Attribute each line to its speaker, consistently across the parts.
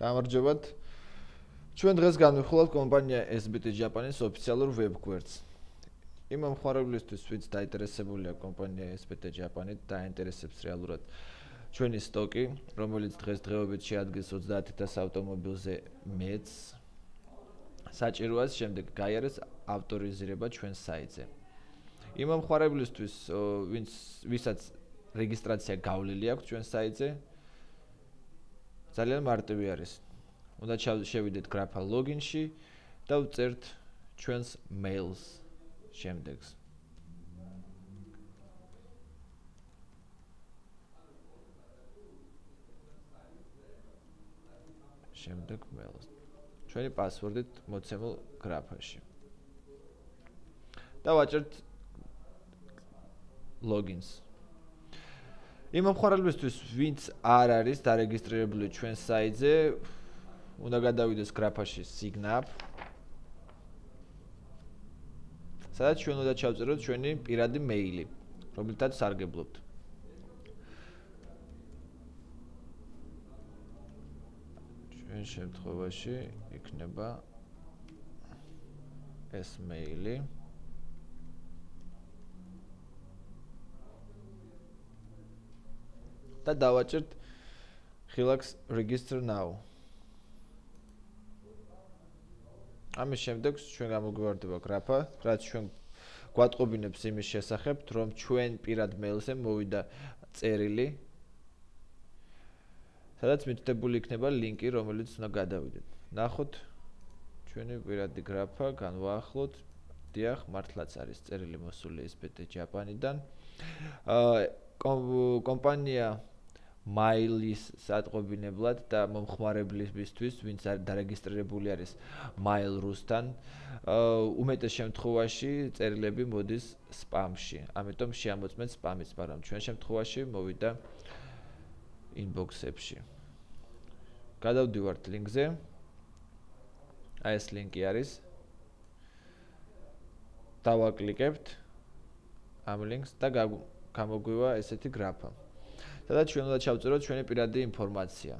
Speaker 1: გამარჯობათ. ჩვენ დღეს განვიხილავთ კომპანია SBT Japan-ის ოფიციალურ ვებგვერდს. იმ მომხმარებლისთვის, ვინც დაინტერესებულია კომპანია SBT Japan-ით, დაინტერესებს რეალურად ჩვენი სტოკი, რომელიც დღესდღეობით შეადგენს 30,000 ავტომობილზე მეც. საჭიროა შემდეგ გაიარეს ავტორიზირება ჩვენ საიტზე. იმ მომხმარებლისთვის, ვისაც რეგისტრაცია გავლილი აქვს ჩვენ საიტზე, ძალიან მარტივი არის. უნდა შევიდეთ გრაფა ლოგინში და ვწერთ ჩვენს მეილს შემდეგს. შემდეგ მეილს. ჩვენი პასვორდით მოცემულ გრაფაში. და ვაჭერთ ლოგინს. იმ მომხმარებელისთვის, ვინც არ არის დარეგისტრირებული ჩვენ საიტზე, უნდა გადავიდეს გრაფაში Sign up. სადაც ჩვენ უნდა ჩავწეროთ ჩვენი პირადი მეილი, რომელთაც სარგებლობთ. ჩვენ შემთხვევაში იქნება ეს მეილი. და დავაჭერთ ხილაკს register now. ამის შემდეგ ჩვენ გამოგვივარდება გრაფა, რაც ჩვენ გვატყობინებს იმის შესახებ, რომ ჩვენ პირად მეილზე მოვიდა წერილი, სადაც მითითებული იქნება ლინკი, რომელიც უნდა გადავიდეთ. ნახოთ ჩვენი პირადი გრაფა, განვაახლოთ. დიახ, მართლაც არის წერილი მოსული SBT Japan-დან. კომპანია მაილის სატყობინებლად და მომხმარებლისთვის, ვინც დარეგისტრირებული არის Mail.ru-სთან, უმეტეს შემთხვევაში წერილები მოდის სპამში. ამიტომ შეამოწმეთ სპამიც, მაგრამ ჩვენ შემთხვევაში მოვიდა inbox-ებში. გადავდივართ ლინკზე. აი ეს ლინკი არის. დავაკლიკებთ ამ ლინკს და გამოგვივა ესეთი გრაფა. სადაც ჩვენ უნდა ჩავწეროთ ჩვენი პირადი ინფორმაცია.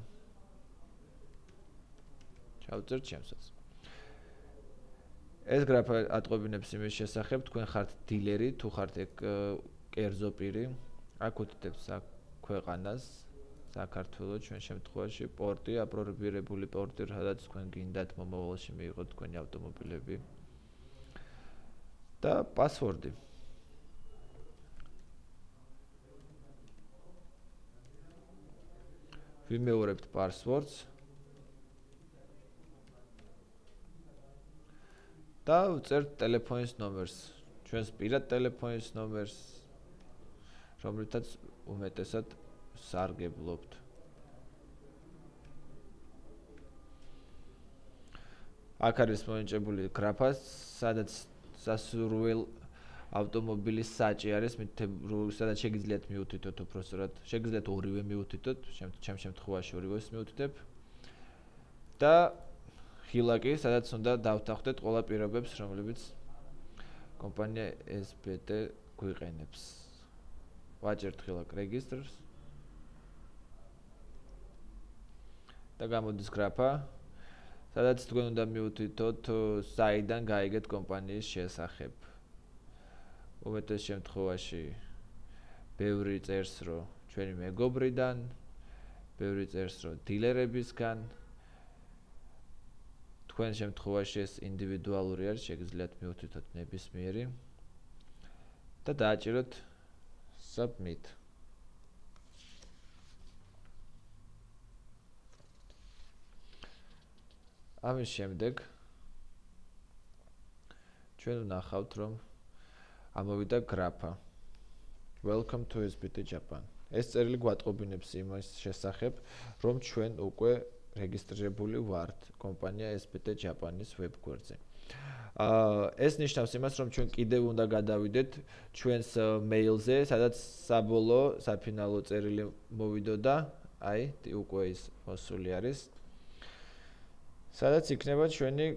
Speaker 1: ჩავწერთ ჩემსაც. ეს გრაფა ატყობინებს იმის შესახებ, თქვენ ხართ დილერი, თუ ხართ კერძო პირი, აქ უთითებს ქვეყანას, საქართველოს, ჩვენ შემთხვევაში პორტი, აპრობირებული პორტი, სადაც თქვენ გინდათ მომავალში მიიღოთ თქვენი ავტომობილები. და პასვორდი. ვიმეორებთ პასვორდს და ვწერთ ტელეფონის ნომერს, ჩვენს პირად ტელეფონის ნომერს, რომლითაც უმეტესად სარგებლობთ. აქ არის მონიჭებული გრაფა, სადაც სასურველ ავტომობილის საჭი არის, სადაც შეგიძლიათ მიუთითოთ უпростоრად, შეგიძლიათ ორივე მიუთითოთ, ჩემ შემთხვევაში ორივეს მიუთითებ. და ხილაკი, სადაც უნდა დავთანხმდეთ ყველა პირობებს, რომლებიც კომპანია SBT გვიყენებს. ვაჭერთ ხილაკ register-ს. და გამოდის გრაფა, სადაც თქვენ უნდა მიუთითოთ საიდან გაიგეთ კომპანიის შესახებ. უმეტეს შემთხვევაში ბევრი წერს, რომ ჩვენი მეგობრიდან, ბევრი წერს, რომ დილერებისგან. თქვენ შემთხვევაში ეს ინდივიდუალური არის, შეგიძლიათ მიუთითოთ ნებისმიერი და დააჭიროთ submit. ამის შემდეგ ჩვენ ვნახავთ, რომ ამოვიდა გრაფა. Welcome to SBT Japan. ეს წერილი გვატყობინებს იმის შესახებ, რომ ჩვენ უკვე რეგისტრირებული ვართ კომპანია SBT Japan-ის ვებგვერდზე. ეს ნიშნავს იმას, რომ ჩვენ კიდევ უნდა გადავიდეთ ჩვენს მეილზე, სადაც საბოლოო საფინალო წერილი მოვიდოდა, აი, უკვე ის მოსული არის. სადაც იქნება ჩვენი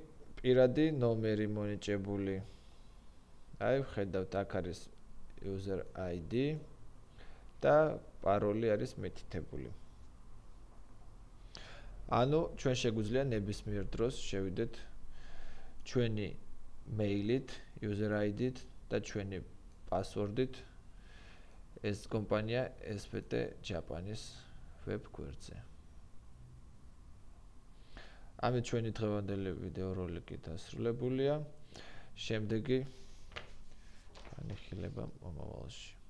Speaker 1: პირადი ნომერი მონიჭებული. აი, ვხედავთ, აქ არის user ID და პაროლი არის მითითებული. ანუ ჩვენ შეგვიძლია ნებისმიერ დროს შევიდეთ ჩვენი მეილით, user ID-ით და ჩვენი პასვორდით ეს კომპანია SPT Japan-ის ვებ გვერდზე. ამით ჩვენი დღევანდელი ვიდეოროლიკი დასრულებულია. შემდეგი განიხილება მომავალში.